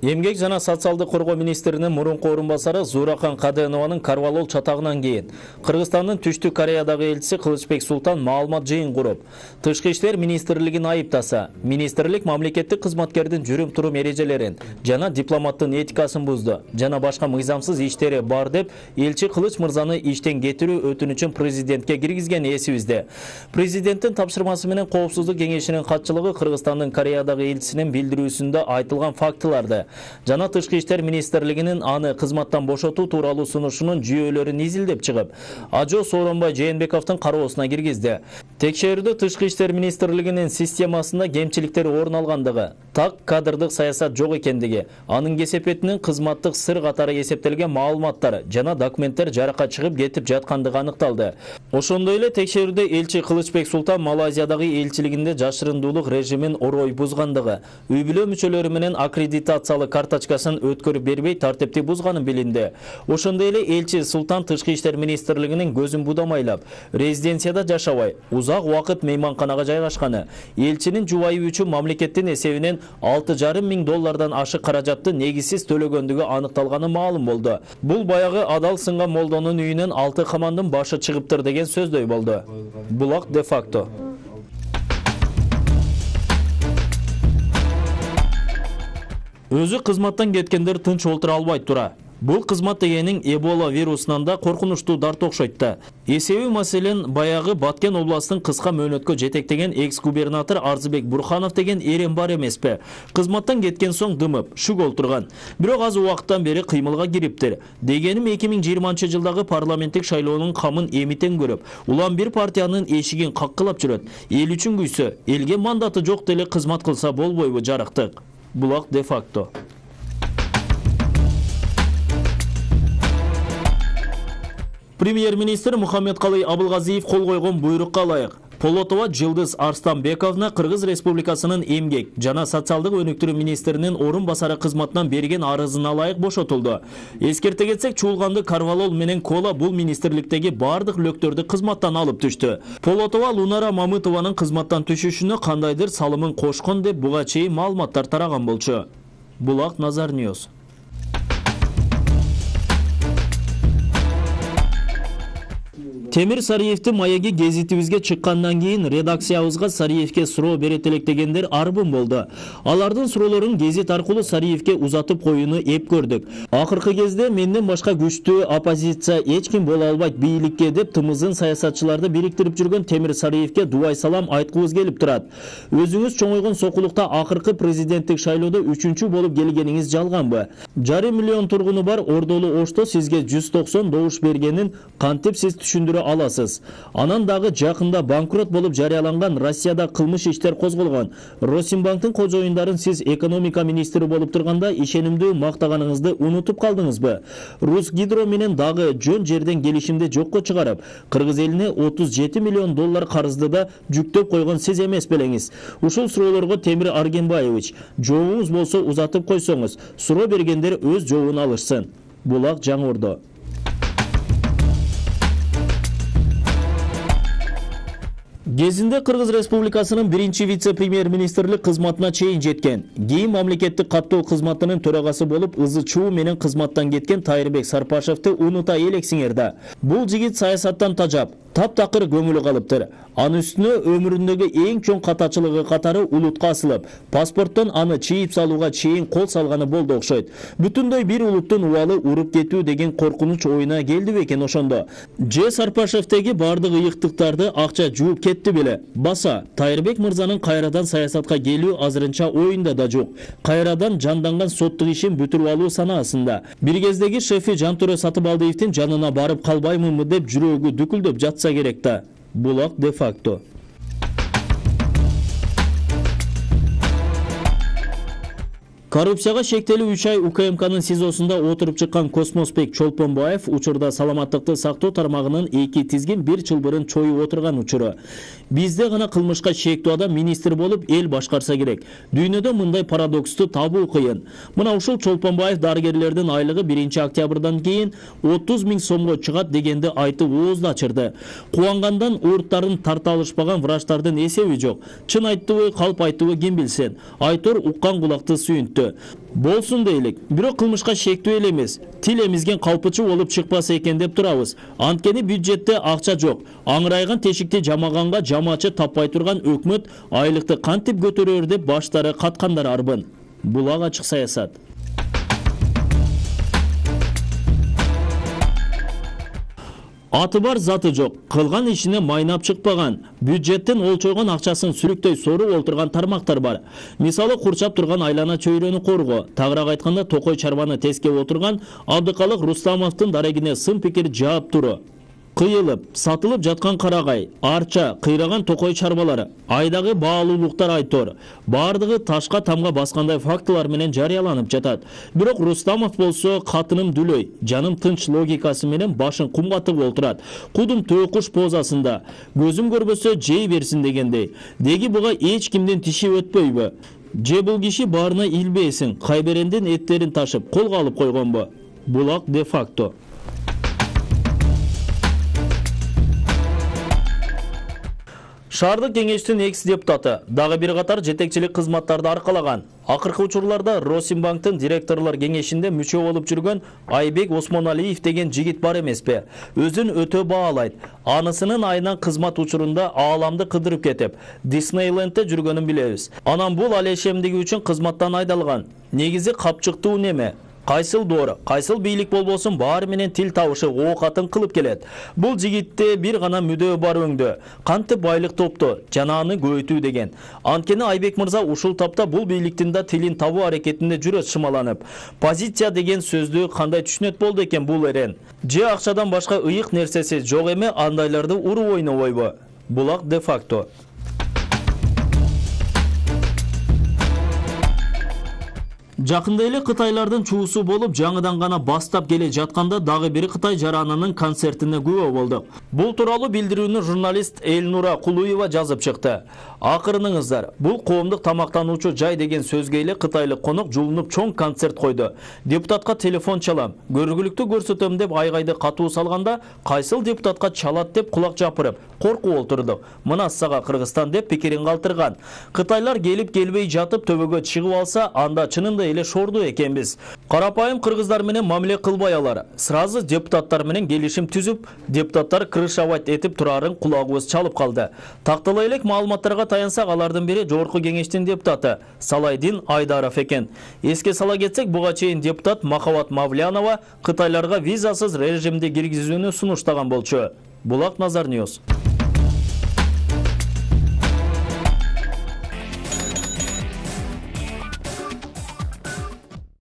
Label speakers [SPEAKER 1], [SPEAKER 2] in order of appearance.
[SPEAKER 1] Эмгек жана социалдык коргоо министринин мурунку орун басары Зууракан Каденованын Карвалол чатагынан кийин Кыргызстандын Түштүк Кореядагы элчиси Кылычбек Султан маалымат жыйын куруп, Тышкы иштер министрлигин айыптаса, министрлик мамлекеттик кызматкердин жүрүм-турум эрежелерин жана дипломаттын этикасын бузду жана башка мыйзамсыз иштери бар деп элчи Кылыч мырзаны иштен кетирүү өтүнүчүн президентке киргизген эсибизде. Президенттин тапшырмасы менен Коопсуздук кеңешинин катчылыгы Кыргызстандын Кореядагы элчисинин билдирүүсүндө айтылган фактыларды жана Тышкы иштер министрлигинин аны кызматтан бошотуу тууралуу сунушунун жүйөлөрүн изилдеп чыгып, Ажо Сооронбай Жээнбековдун кароосуна киргизди. Текшерүүдө Тышкы иштер министрлигинин системасында кемчиликтер орун алгандыгы, так кадрдык саясат жок экендиги, анын кесепетинин кызматтык сыр катары эсептелген маалыматтар жана документтер жаракка чыгып кетип жаткандыгы аныкталды. Ошондой эле текшерүүдө элчи Кылычбек Султан Малайзиядагы элчилигинде жашырындуулук режимин орой бузгандыгы, үй бүлө мүчөлөрү менен аккредитациялык карточкасын өткөрүп бербей тартипти бузганын билинди. Ошондой эле элчи Султан Тышкы иштер министрлигинин көзүн будамайлап, резиденцияда жашабай, узак убакыт мейманканага жайгашканы, элчинин жубайы үчүн мамлекеттин эсебинен $6,500 ашык каражатты негизсиз төлөгөндүгү аныкталганы маалым болду. Бул баягы адал сынган молдонун үйүнөн 6 камандын башы чыгыптыр деген сөздөй болду. Булак де факто. Өзү кызматтан кеткендер тынч олтура албайт тура. Бул кызмат дегенин Эбола вирусунан да коркунучтуу дарт окшойт да. Эсеби маселен баягы Баткен областын кыска мөөнөткө жетектеген экс-губернатор Арзыбек Бурханов деген эрем бар эмеспи? Кызматтан кеткен соң дымып, шүк олтурган. Бирок аз убакыттан бери кыймылга кириптир. Дегеним 2020-жылдагы парламенттик шайлоонун камын эмитен көрүп, улам бир партиянын эшигин каккылап жүрөт. Эл үчүн күйсө, элге мандаты жок деле кызмат кылса болбойбу жарыктык? Булак де факто. Премьер-министр Мухаммедкалый Абылгазиев кол койгон буйрукка ылайык Полотова Жылдыз Арстанбековна Кыргыз Республикасынын эмгек жана социалдык өнүктүрүү министринин орун басары кызматынан берген арызына ылайык бошотулду. Эскерте кетсек, Чуулганды Карвалол менен Кола бул министрликтеги бардык лөктөрдү кызматтан алып түштү. Полотова Лунара Мамытованын кызматтан түшүшүнө кандайдыр салымын кошкон деп буга чейин маалыматтар тараган болчу. Булак Назар Ньюс. Темир Сариевдин маеги гезитибизге чыккандан кийин редакциябызга Сариевке суроо берет электегендер арбын болду. Алардын суроолорун гезит аркылуу Сариевке узатып коюуну эп көрдүк. Акыркы кезде менден башка күчтүү оппозиция эч ким боло албайт бийликке деп тымызын саясатчыларды бириктирип жүргөн Темир Сариевке дубай салам айткыбыз келип турат. Өзүңүз чоңойгон сокулукта акыркы президенттик шайлоодо 3-чү болуп келгениңиз жалганбы? 5,5 миллион тургуну бар Ордолу Ошто сизге 190 добуш бергенин кантип сиз түшүндүрө аласыз? Анан дагы жакында банкрот болуп жарыяланган Россияда кылмыш иштер козголгон Росинбанктын кожоюндарын сиз экономика министри болуп турганда ишенимдүү мактаганыңызды унутуп калдыңызбы? Русгидро менен дагы жөн жерден келишимди жокко чыгарып, Кыргыз элине $37 миллион карызды да жүктөп койгон сиз эмес белеңиз. Ушул суроолорго Темир Аргенбаевич, жообуңуз болсо узатып койсоңуз, суроо бергендер өз жообун алышсын. Булак Жаңы Ордо. Кезинде Кыргыз Республикасынын биринчи вице-премьер-министрлик кызматына чейин жеткен, кийин мамлекеттик каттоо кызматынын төрагасы болуп ызы-чуу менен кызматтан кеткен Тайырбек Сарпашевди унута элексиңер да. Бул жигит саясаттан тажап, таптакыр көңүлү калыптыр. Анын үстүнө өмүрүндөгү эң чоң катачылыгы катары улутка асылып, паспорттон аны чийип салууга чейин кол салганы болду окшойт. Бүтүндөй бир улуттун убалы уруп кетүү деген коркунуч оюна келди бекен ошондо. Же Сарпашевдеги бардык ыйыктыктарды акча жууп кетти беле? Баса, Тайырбек мырзанын кайрадан саясатка келүү азырынча оюнда да жок. Кайрадан жанданган соттук ишин бүтүрүп алуу санаасында. Бир кездеги шефи Жантөрө Сатыбалдиевдин жанына барып калбаймынбы деп жүрөгү дүкүлдөп жатса керек да. Булак де факто. Коррупцияга шектелүү 3 ай УКМКнын СИЗОсунда отуруп чыккан Космосбек Чолпонбаев учурда саламаттыкты сактоо тармагынын 2 тизгин 1 чылбырын чоюп отурган учуру. Бизде гана кылмышка шектүү адам министр болуп эл башкарса керек. Дүйнөдө мындай парадоксту табуу кыйын. Мына ушул Чолпонбаев дарыгерлердин айлыгы 1-октябрдан кийин 30 000 сомго чыгат дегенди айтып оозду ачырды. Кубангандан урттарын тарта алышпаган врачтардын эсеби жок. Чын айттыбы, калп айттыбы ким билсин. Айтор уккан кулакты сүйүнттү. өттү. Болсун дейлик, бирок кылмышка шектүү эле эмес, тил эмизген калпычы болуп чыкпаса экен деп турабыз. Анткени бюджетте акча жок. Аңырайган тешикти жамаганга жамачы таппай турган өкмөт айлыкты кантип көтөрөр деп баштары каткандар арбын. Булак ачык саясат. Аты бар, заты жок, кылган ишине майнап чыкпаган, бюджеттен олчойгон акчасын сүрүктөй соруп олтурган тармактар бар. Мисалы, курчап турган айлана чөйрөнү коргоо, тагыраак айтканда токой чарбаны тескеп отурган Абдыкалык Рустамовдун дарегине сын пикир жаап туру. Кыйылып, сатылып жаткан карагай, арча, кыйраган токой чарбалары, айдагы баалуулуктар айтор. Бардыгы ташка тамга баскандай фактылар менен жарыяланып жатат. Бирок Рустамов болсо катыным дүлөй, жаным тынч логикасы менен башын кумга тыгып олтурат. Кудум төкуш позасында, көзүм көрбөсө жей берсин дегендей. Деги буга эч кимдин тиши өтпөйбү? Же бул киши баарына илбейсин, кайберендин эттерин ташып колго алып койгонбу? Булак де факто. Шаардык кеңештин экс-депутаты дагы бир катар жетекчилик кызматтарды аркалаган. Акыркы учурларда Росимбанктын директорлор кеңешинде мүчө болуп жүргөн Айбек Осмоналиев деген жигит бар эмеспи? Өзүн өтө баалайт. Анысынын айынан кызмат учурунда ааламды кыдырып кетип, Диснейлендте жүргөнүн билебиз. Анан бул алешемдиги үчүн кызматтан айдалган. Негизи капчыктуу неме? Кайсыл доор, кайсыл бийлик болбосун баары менен тил табышы оокатын кылып келет. Бул жигитте бир гана мүдөө бар өңдө, кантип байлык топтоо, жанааны көбөйтүү деген. Анткени Айбек мырза ушул тапта бул бийликтин да тилин табуу аракетинде жүрөт шымаланып. Позиция деген сөздү кандай түшүнөт болду экен бул эрен? Же акчадан башка ыйык нерсеси жок эме андайларды уруп ойнобойбу? Булак де факто. Жакында эле кытайлардын чуусу болуп, жаңыдан гана бастап келе жатканда дагы бир Кытай жаранынын концертине күбө болдук. Бул тууралуу билдирүүнү журналист Элнура Кулуева жазып чыкты. Акырыныңыздар, бул коомдук тамактануучу жай деген сөзгө эле кытайлык конок жулунуп чоң концерт койду. Депутатка телефон чалам, көргүлүктү көрсөтөм деп айгайды катуу салганда, кайсыл депутатка чалат деп кулак жапырып, коркуп олтурдук. Мына сага Кыргызстан деп пикирин калтырган. Кытайлар келип келбей жатып төбөгө чыгып алса, анда чынында эле шорду экенбиз. Карапайым кыргыздар менен мамиле кылбай алар. Сразу депутаттар менен келишим түзүп, депутаттар крышавать этип турарын кулагыбыз чалып калды. Тактала элек маалыматтарга таянсак, алардын бири жогорку кеңештин депутаты Салайдин Айдаров экен. Эске сала кетсек, буга чейин депутат Махабат Мавлянова кытайларга визасыз режимди киргизүүнү сунуштаган болчу. Булак Назар Ньюс.